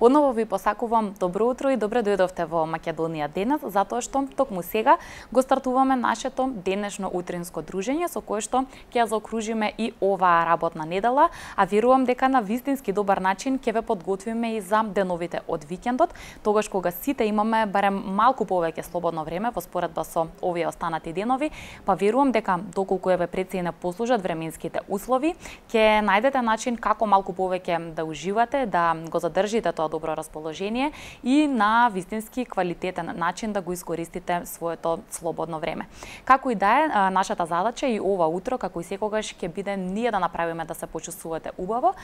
Одново ви посакувам добро утро и добре дојдовте во Македонија денес, затоа што токму сега го стартуваме нашето денешно утринско дружење со кое што ќе ја заокружиме и оваа работна недела, а верувам дека на вистински добар начин ќе ве подготвиме и за деновите од викендот, тогаш кога сите имаме барем малку повеќе слободно време во споредба со овие останати денови, па верувам дека доколку еве пред се не послужат временските услови, ќе најдете начин како малку повеќе да уживате, да го задржите тоа добро расположение и на вистински квалитетен начин да го искористите своето слободно време. Како и да е, нашата задача и ова утро, како и секогаш, ќе биде ние да направиме да се почувствувате убаво,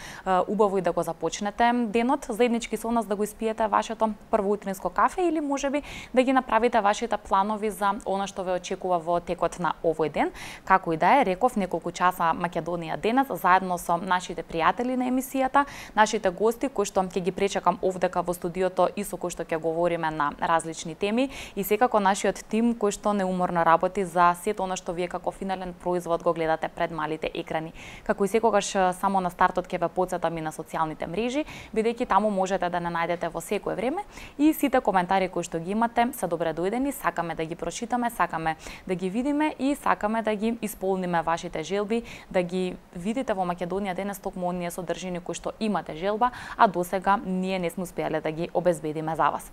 убаво и да го започнете денот, заеднички со нас да го испиете вашето прво утринско кафе или можеби да ги направите вашите планови за она што ве очекува во текот на овој ден. Како и да е, реков неколку часа Македонија денес заедно со нашите пријатели на емисијата, нашите гости кои што ќе ги пречекам овдека во студиото и со кои што ќе говориме на различни теми и секако нашиот тим кој што неуморно работи за сето она што вие како финален производ го гледате пред малите екрани. Како и секогаш само на стартот ќе ве потсетам и на социјалните мрежи, бидејќи таму можете да не најдете во секое време и сите коментари кои што ги имате се добре дојдени, сакаме да ги прочитаме, сакаме да ги видиме и сакаме да ги исполниме вашите желби, да ги видите во Македонија денес токму оние содржини кои што имате желба, а досега ние не сме успеале да ги обезбедиме за вас.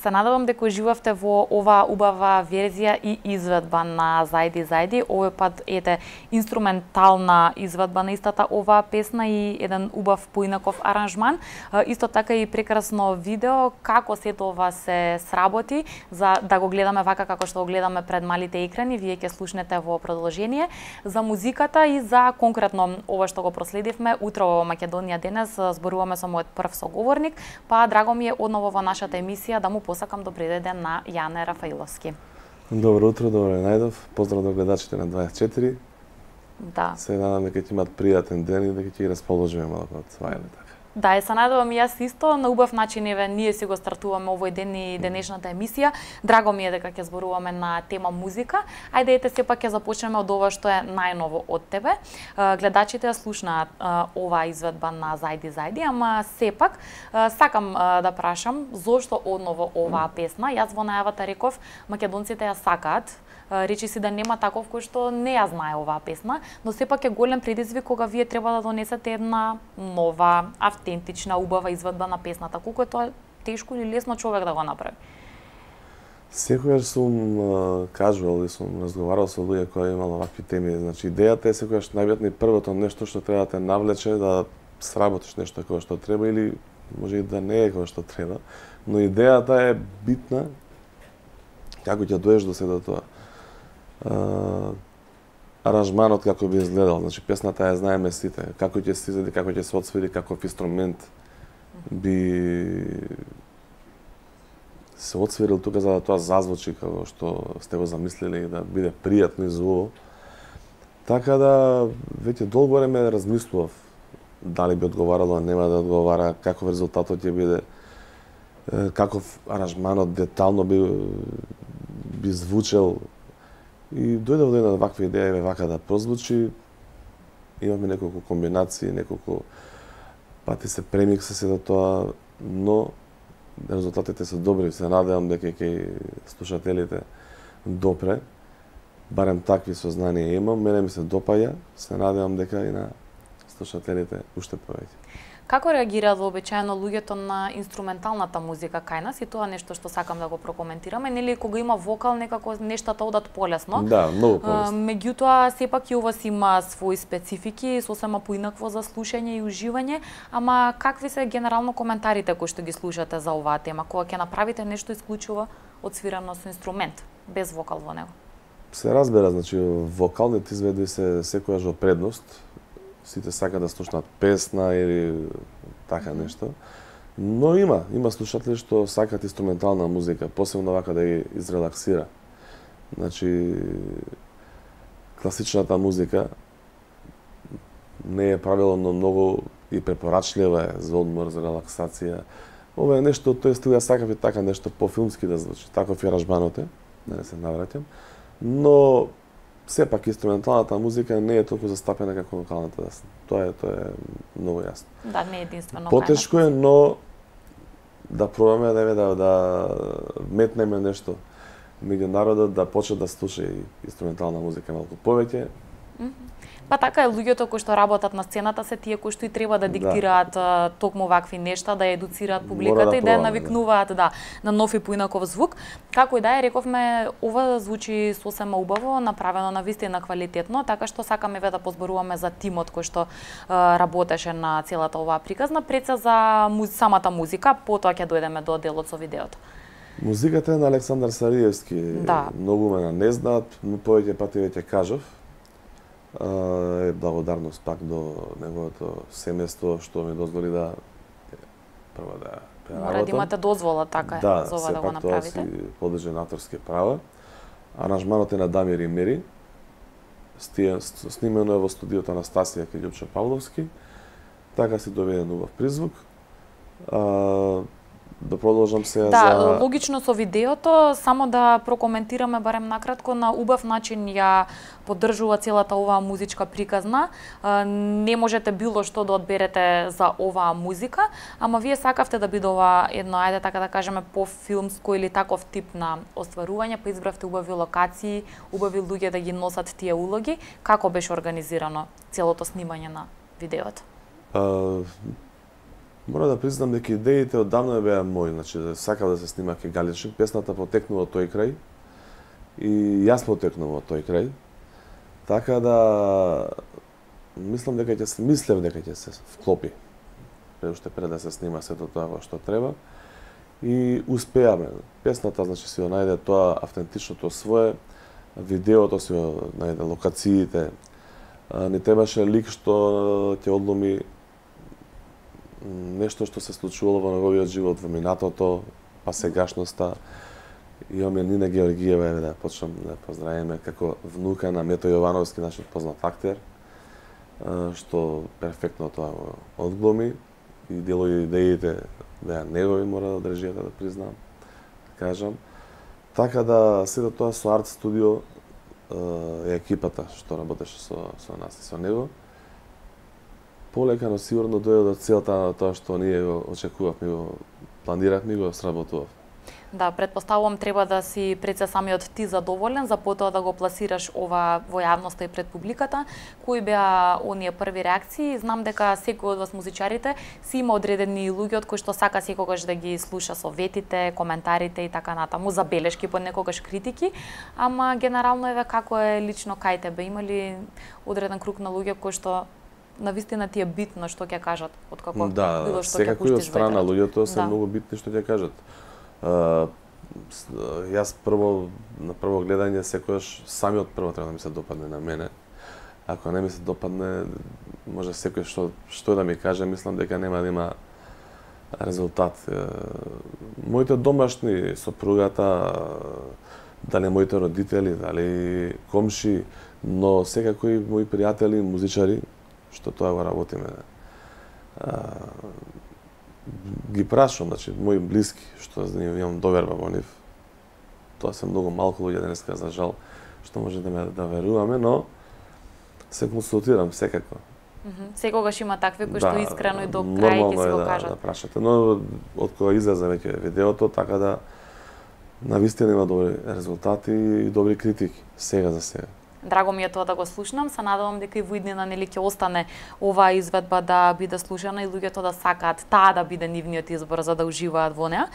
Се надевам дека уживавте во оваа убава верзија и изведба на Зајди Зајди. Овој пат ете инструментална изведба на истата оваа песна и еден убав поинаков аранжман. Исто така и прекрасно видео како сето ова се сработи за да го гледаме вака како што го гледаме пред малите екрани. Вие ќе слушнете во продолжение за музиката и за конкретно ова што го проследивме утрово во Македонија денес. Зборуваме со мојот прв соговорник, па драго ми е одново во нашата емисија да му посакам добри ден на Јане Рафаиловски. Добро утро, добро најдов. Поздрав до гледачите на 24. Да. Се надам дека ќе имат пријатен ден и дека ќе ги расположиме малку од това или така. Да, се надевам и јас исто на убав начин еве ние си го стартуваме овој ден и денешната емисија. Драго ми е дека ќе зборуваме на тема музика. Ајде ете сепак ќе започнеме од ова што е најново од тебе. Гледачите ја слушнаат оваа изведба на Зајди Зајди, ама сепак сакам да прашам зошто одново оваа песна. Јас во најавата реков македонците ја сакаат. Речи си да нема таков кој што не ја знае оваа песна, но сепак е голем предизвик кога вие треба да донесете една нова, автентична, убава изведба на песната. Колку е тоа тешко или лесно човек да го направи? Секогаш сум кажувал и сум разговарал со луѓе кои имало вакви теми. Значи идејата е секогаш најбитно и првото нешто што треба да те навлече да сработиш нешто како што треба или може и да не е како што треба, но идејата е битна како ќе доеш до се до тоа. Аранжманот како би изгледал, значи песната ја знаеме сите, како ќе се изгледа, како ќе се отсвири, каков инструмент би се отсвирил тука за да тоа зазвучи како што сте го замислиле и да биде пријатно и звуко. Така да веќе долго време размислував дали би одговарало, нема да одговара, каков резултатот ќе биде, каков аранжманот детално би звучел. И дојдов до една ваква идеја, еве вака да прозвучи. Имаме неколку комбинации, неколку пати се премикса се до тоа, но резултатите се добри. Се надевам дека ќе слушателите допре. Барем такви сознанија имам, мене ми се допаѓа, се надевам дека и на слушателите уште повеќе. Како реагираат вообичаено луѓето на инструменталната музика кај нас и тоа нешто што сакам да го прокоментираме, нели кога има вокал некако нештата одат полесно. Да, многу полесно. Меѓутоа сепак и ова си има свои специфики, сосема поинакво за слушање и уживање, ама какви се генерално коментарите кои што ги слушате за оваа тема, кога ќе направите нешто исклучиво отсвирано со инструмент, без вокал во него? Се разбира, значи вокалните изведби се секогаш во предност. Сите сакаат да слушнат песна или така нешто. Но има слушатели што сакаат инструментална музика, посебно вака да ги изрелаксира. Значи класичната музика не е правилно многу и препорачлива е за одмор, за релаксација. Ова е нешто, тој стил ја сакав и така нешто по-филмски да звучи. Таков и аранжманот е, да не се навраќам. Но сепак инструменталната музика не е толку застапена како вокалната. Тоа е многу јасно. Да, не е единствено. Потешко е, но да пробаме да метнеме нешто меѓу народот да почне да слуша и инструментална музика малку повеќе. Па така е, луѓето кои што работат на сцената се тие кои што и треба да диктираат токму вакви нешта, да едуцираат публиката и да ја навикнуваат на нов и поинаков звук. Како и да е, рековме, ова звучи сосема убаво, направено на вистина квалитетно, така што сакаме да позборуваме за тимот кој што работеше на целата оваа приказна, пред се за самата музика, потоа ќе дојдеме до делот со видеото. Музиката е на Александар Сариевски. Да. Многу мене не знаат, но повеќе пати веќе кажав. Е благодарност пак до неговото семејство што ми дозволи да прво да преработам. Мора да имате дозвола така за ова да го направите. Да, тоа си подлежи на авторски права. Аранжманот е на Дамир и Мери. Снимено е во студиото Анастасија кај Љупчо Павловски. Така си доведен убав призвук. Да продолжам сега за логично со видеото, само да прокоментираме барем накратко, на убав начин ја поддржува целата оваа музичка приказна. Не можете било што да одберете за оваа музика, ама вие сакавте да биде ова едно, ајде така да кажеме, по-филмско или таков тип на остварување, па избравте убави локации, убави луѓе да ги носат тие улоги. Како беше организирано целото снимање на видеото? Мора да признам дека идеите оддавна беа мои, значи сакав да се снима ке Галичник, песната потекнува од тој крај и јас потекнува од тој крај. Така да мислам дека ќе се вклопи. Пред да се снима сето тоа што треба. И успеаме. Песната значи си ја најде тоа автентичното свое, видеото си ја најде локациите. Не требаше лик што ќе одломи нешто што се случувало во неговиот живот во минатото, па сегашноста. Имаме Нина Георгиева, да почнам да поздравиме како внука на Мето Јовановски, нашиот познат актер, што перфектно тоа одгломи и делови идеите беа негови, мора да држијата да признам, да кажам. Така да сето тоа со Арт Студио е екипата што работеше со нас и со него. Полека, но сигурно дојде до целта на тоа што ние го очекувавме, го планиравме и го сработував. Да, предпоставувам треба да си пред се самиот ти задоволен за потоа да го пласираш ова во јавноста и пред публиката. Кои беа оние први реакции? Знам дека секој од вас музичарите си има одредени луѓе од кои што сака секогаш да ги слуша советите, коментарите и така натаму, забелешки, понекогаш критики, ама генерално еве како е лично кај тебе? Има ли одреден круг на луѓе кои што навистина ти е битно што ќе кажат откако било што ќе пуштиш? Да, секако од страна луѓето се многу битни што ќе кажат. Јас на прво гледање секојаш самиот прво треба да ми се допадне на мене. Ако не ми се допадне, може секој што да ми каже, мислам дека нема да има резултат. Моите домашни, сопругата, дали моите родители, дали комши, но секако и мои пријатели, музичари, што тоа го работиме. Ги прашувам, значи, мои блиски, што имам доверба во нив. Тоа се многу малку луѓе денеска, за жал, што може да веруваме, но се консултирам секако. Секогаш има такви кои што искрено и до крај ќе се го кажат. Да прашате, но од кога излезе веќе видеото, така да навистина има добри резултати и добри критики, сега за сега. Драго ми е тоа да го слушнам, се надевам дека и во иднина нели ќе остане оваа изведба да биде слушана и луѓето да сакаат таа да биде нивниот избор за да уживаат во неа.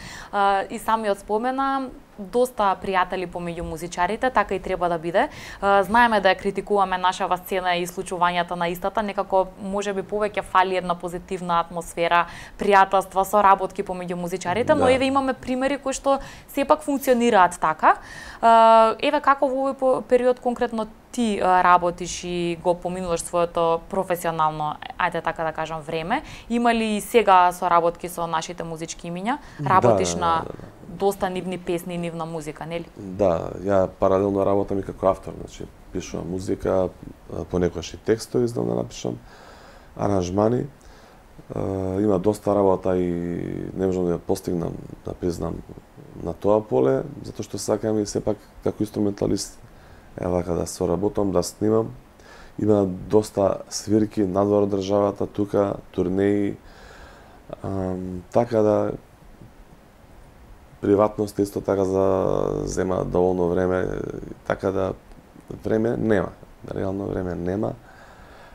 И самиот спомена доста пријатели помеѓу музичарите, така и треба да биде. Знаеме да ја критикуваме нашава сцена и случувањата на истата, некако можеби повеќе фали една позитивна атмосфера, пријателства, соработки помеѓу музичарите, но еве имаме примери кои што сепак функционираат така. Еве како во овој период конкретно ти работиш и го поминуваш своето професионално, ајде така да кажам, време. Има ли сега соработки со нашите музички имиња? Работиш на доста нивни песни и нивна музика, нели? Да, ја паралелно работам и како автор, значи пишувам музика, понекогаш и текстови знам да напишам, аранжмани. Има доста работа и не можам да ја постигнам, да признам, на тоа поле, затоа што сакам и сепак како инструменталист вака да соработам, да снимам. Има доста свирки надвор од државата, тука, турнеи, така да приватност исто така зема доволно време, така да време нема, реално време нема.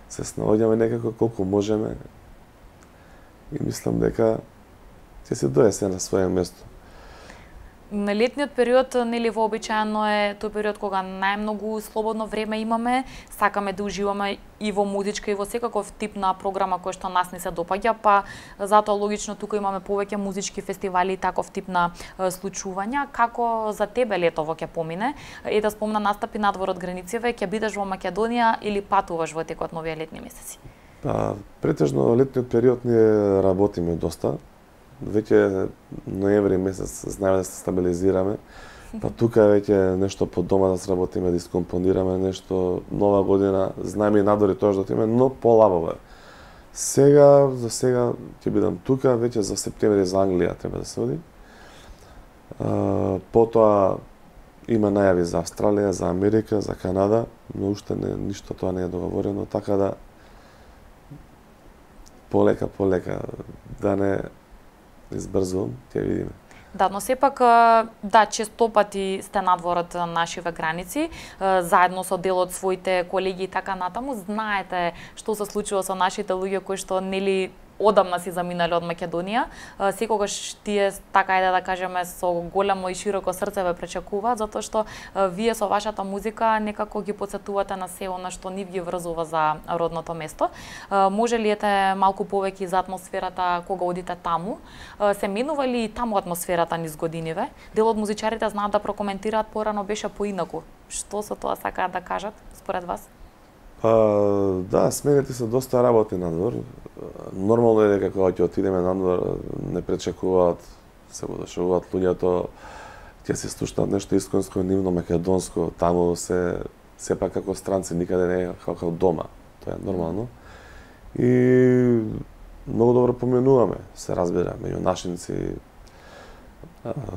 Се снаоѓаме некако колку можеме и мислам дека ќе се дојде се на своје место. На летниот период, нели, вообичаено е тој период кога најмногу слободно време имаме, сакаме да уживаме и во музичка и во секаков тип на програма кој што нас не се допаѓа, па затоа логично тука имаме повеќе музички фестивали и таков тип на случувања. Како за тебе летово ќе помине? И да спомна настапи надвор од границите, ќе бидеш во Македонија или патуваш во текот на овие летни месеци? Па, претежно летниот период ние работиме доста. Веќе ноември месец знаеме да се стабилизираме, па тука веќе нешто по дома да сработиме, да искомпонираме нешто, нова година, знаеме и надвори тоа што отиме, но полабаво е. За сега ќе бидам тука, веќе за септември за Англија треба да се оди. Потоа има најави за Австралија, за Америка, за Канада, но уште ништо тоа не е договорено, така да полека, да не избрзувам, ќе видиме. Да, но сепак, да, честопати сте надвор од нашиве граници, заедно со дел од своите колеги и така натаму, знаете што се случува со нашите луѓе кои што нели одамна си заминале од Македонија. Секогаш тие, така ајде да кажеме, со големо и широко срце ве пречекуваат, затоа што вие со вашата музика некако ги потсетувате на се она што нив ги врзува за родното место. Може ли ете малку повеќе за атмосферата кога одите таму? Се менува ли и таму атмосферата низ годиниве? Дел од музичарите знаат да прокоментираат, порано беше поинаку. Што со тоа сакаат да кажат според вас? Да, смените се доста работи надвор. Нормално е дека кога ќе отидеме надвор не пречекуваат, се го дошуваат луѓето, ќе се слушнат нешто исконско, нивно македонско, таму се сепак како странци, никаде не е како дома. Тоа е нормално. И многу добро поменуваме, се разбира, меѓу нашинци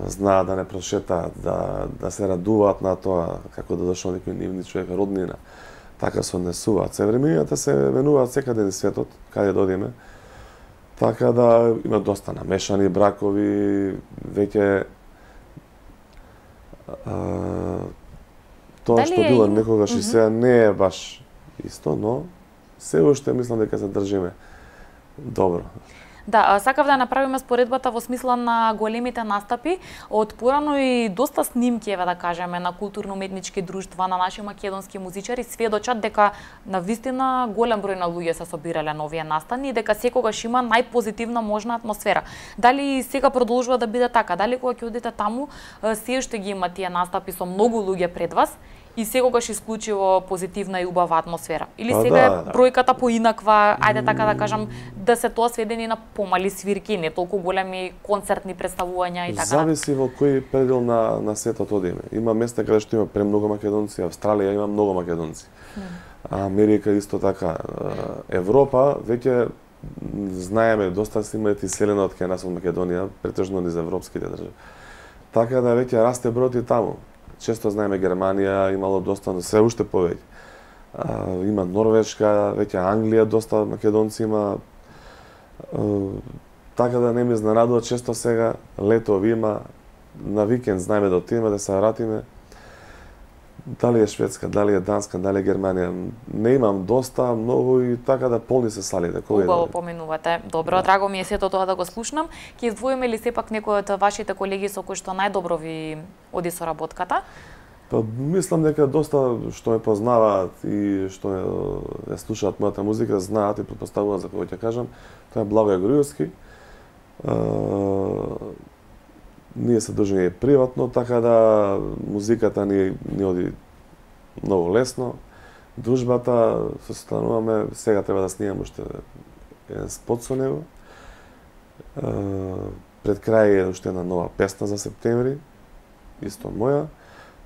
знаат да не прошетаат, да се радуваат на тоа како да дошол некој нивни човек, роднина. Така се однесуваат. Севремињата се менуваат секаде низ светот, каде додиме. Така да има доста намешани бракови, веќе тоа што било некогаш и сега не е баш исто, но се уште мислам дека се држиме добро. Да, сакав да направиме споредбата во смисла на големите настапи. Од порано и доста снимки, еве да кажеме, на културно-уметнички друштва, на наши македонски музичари сведочат дека навистина голем број на луѓе се собирале на овие настани и дека секогаш има најпозитивна можна атмосфера. Дали сега продолжува да биде така? Дали кога ќе одите таму, се уште ги има тие настапи со многу луѓе пред вас? И секогаш исклучиво позитивна и убава атмосфера. Или сега е бројката поинаква, ајде така да кажам, да се тоа сведени на помали свирки, не толку големи концертни представувања и така. Зависи во кој предел на светот одиме. Има места каде што има премногу македонци, Австралија има многу македонци. Америка исто така. Европа веќе знаеме доста се имаат иселено од кај нас од Македонија, претежно низ европските држави. Така да веќе расте бројот и таму. Често знаеме Германија имало доста, но се уште повеќе. Има Норвешка, веќе Англија доста македонци има. Така да не ме изненадува, често сега летови има, на викенд знаеме да отидеме да се вратиме. Дали е Шведска, дали е Данска, дали е Германија, не имам доста, многу и така да полни се салите. Убаво поминувате. Добро, драго ми е сето тоа да го слушнам. Ќе издвоиме ли сепак некој од вашите колеги со кои што најдобро ви оди соработката? Па мислам дека доста што ме познаваат и што ја слушаат мојата музика, знаат и претпоставуваат за кого ќе кажам. Тоа е Благој Груевски. Ние се дружиме приватно, така да музиката ни оди многу лесно. Дружбата се состануваме, сега треба да снимам уште еден спот со него. Пред крај е уште една нова песна за септември, исто моја.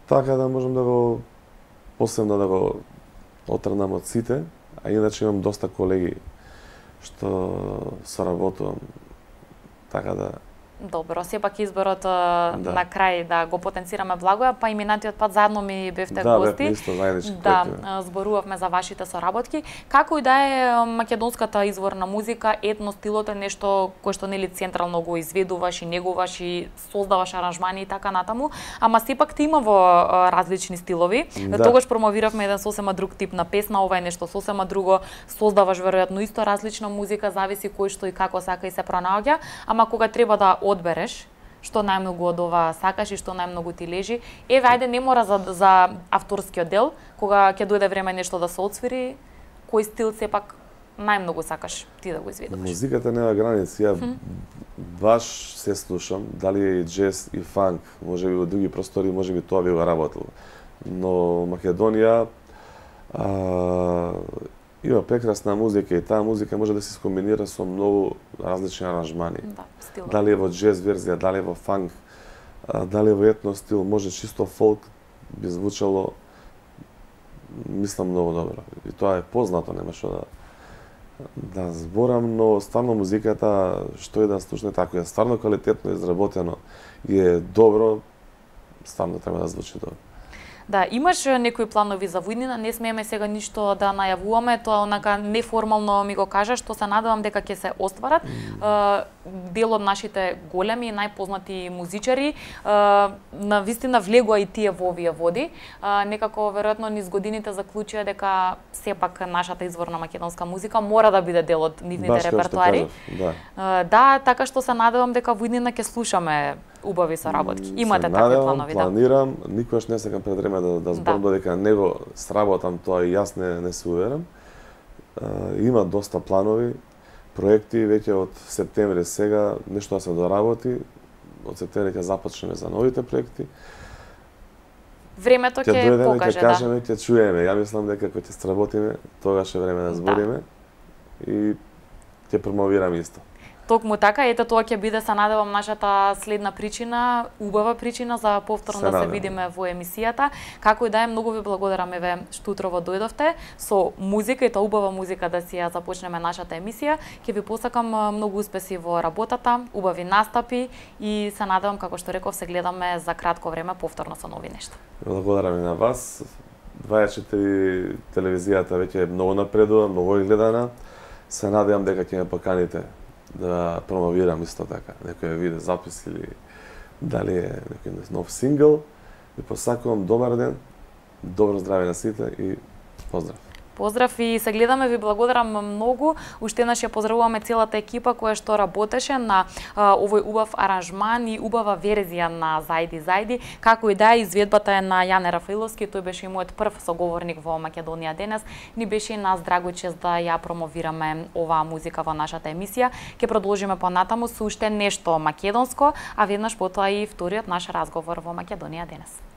Така да можам да го посебно да го отрнам од сите, а иначе имам доста колеги што соработувам. Така да Добро, сепак изборот на крај да го потенцираме Благоја, па и минатиот пат заедно ми бевте гости. Исто заеднички да, зборувавме за вашите соработки. Како и да е македонската изворна музика, етно стилот е нешто кое што нели централно го изведуваш и негуваш и создаваш аранжмани и така натаму, ама сепак ти има во различни стилови. Тогаш промовиравме еден сосема друг тип на песна, ова е нешто сосема друго, создаваш веројатно исто различна музика, зависи кој што и како сака и се пронаоѓа, ама кога треба да одбереш што најмногу од ова сакаш и што најмногу ти лежи. Еве, ајде, не мора за авторскиот дел, кога ќе дојде време нешто да се отсвири, кој стил сепак најмногу сакаш ти да го изведуваш? Музиката нема граници. Ја баш се слушам, дали е и джез и фанк, можеби во други простори, можеби тоа би го работило. Но Македонија има прекрасна музика и таа музика може да се скомбинира со многу различни аранжмани. Да, стилот. Дали е во джез верзија, дали е во фанк, дали е во етно стил, може чисто фолк би звучало, мислам, многу добро. И тоа е познато, нема што да зборам, но стварно музиката, што е да слушне така, е стварно квалитетно изработено и е добро, стварно треба да звучи добро. Да, имаш некои планови за војнина, не смееме сега ништо да најавуваме, тоа онака неформално ми го кажа, што се надевам дека ќе се остварат. Дел од нашите големи и најпознати музичари на вистина влегоа и тие во овие води. Некако веројатно низ годините заклучија дека сепак нашата изворна македонска музика мора да биде дел од нивните репертоари. Да, така што се надевам дека војнина ќе слушаме убави соработки. Имате такви планови, да? Планирам, никогаш не сакам пред време да зборам додека него сработам, тоа и јас не се уверам. Има доста планови, проекти, веќе од септември сега нешто да се доработи. Од септември ќе започнеме за новите проекти. Времето ќе покаже, да. Ќе кажеме, ќе чуеме. Ја мислам дека кога ќе сработиме, тогаш е време да збориме и ќе промовираме исто. Токму така, ете тоа ќе биде, се надевам, нашата следна причина, убава причина за повторно да се видиме во емисијата. Како и да е, многу ви благодарам еве што утрово дојдовте со музика и тоа убава музика да си ја започнеме нашата емисија. Ќе ви посакам многу успеси во работата, убави настапи и се надевам, како што реков, се гледаме за кратко време повторно со нови нешта. Благодарам и на вас. 24 телевизијата веќе е многу напредува, многу е гледана. Се надевам дека ќе ме поканите да промовирам исто така, некој виде запис или дали е некој нов сингл. Ви посакувам добар ден, добро здраве на сите и поздрав. Поздрав и се гледаме, ви благодарам многу. Уште еднаш ја поздравуваме целата екипа која што работеше на овој убав аранжман и убава верзија на Зајди Зајди. Како и да е, изведбата е на Јане Рафаиловски, тој беше и мојот прв соговорник во Македонија денес. Ни беше и нас драго чест да ја промовираме оваа музика во нашата емисија. Ќе продолжиме понатаму со уште нешто македонско, а веднаш потоа и вториот наш разговор во Македонија денес.